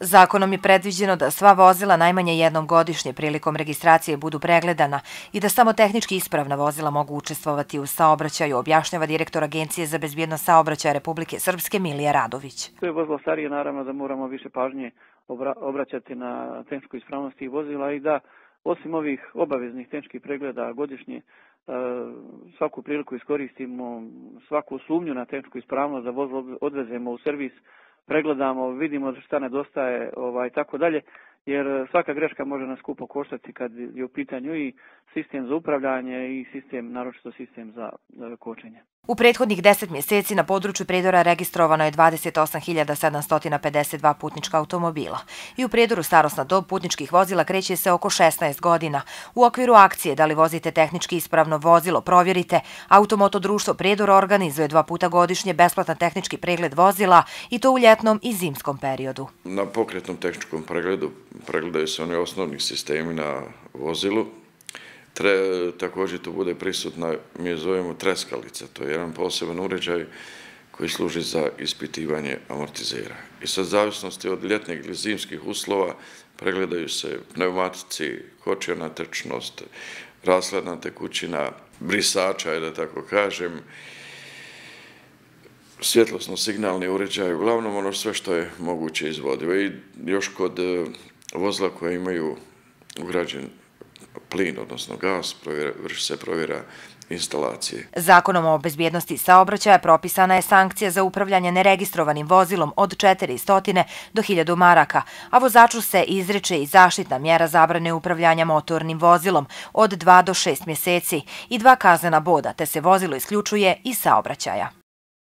Zakonom je predviđeno da sva vozila najmanje jednom godišnje prilikom registracije budu pregledana i da samo tehnički ispravna vozila mogu učestvovati u saobraćaju, objašnjava direktor Agencije za bezbjednost saobraćaja Republike Srpske Milija Radović. To je vozilo starije, naravno da moramo više pažnje obraćati na tehničku ispravnost tih vozila i da osim ovih obaveznih tehničkih pregleda godišnje svaku priliku iskoristimo, svaku sumnju na tehničku ispravnost da vozilo odvezemo u servis, pregledamo, vidimo šta nedostaje tako dalje, jer svaka greška može nas skupo koštati kad je u pitanju i sistem za upravljanje i sistem, naročito sistem za kočenje. U prethodnih 10 mjeseci na području Prijedora registrovano je 28.752 putnička automobila i u Prijedoru starosna dob putničkih vozila kreće se oko 16 godina. U okviru akcije Da li vozite tehnički ispravno vozilo, provjerite, Automoto društvo Prijedor organizuje 2 puta godišnje besplatan tehnički pregled vozila i to u ljetnom i zimskom periodu. Na pokretnom tehničkom pregledu pregledaju se oni osnovni sistemi na vozilu. Također tu bude prisutna, mi je zovemo treskalica, to je jedan poseban uređaj koji služi za ispitivanje amortizera. I sad, zavisnosti od ljetnih ili zimskih uslova, pregledaju se pneumatici, kočiona trčnost, rashladna tekućina, brisača, da tako kažem, svjetlosno-signalni uređaj, uglavnom ono sve što je moguće izvodivo. I još kod vozila koje imaju ugrađen plin, odnosno gas, vrši se provjera instalacije. Zakonom o bezbjednosti saobraćaja propisana je sankcija za upravljanje neregistrovanim vozilom od 400 do 1000 maraka, a vozaču se izriče i zaštitna mjera zabrane upravljanja motornim vozilom od 2 do 6 mjeseci i 2 kaznena boda, te se vozilo isključuje iz saobraćaja.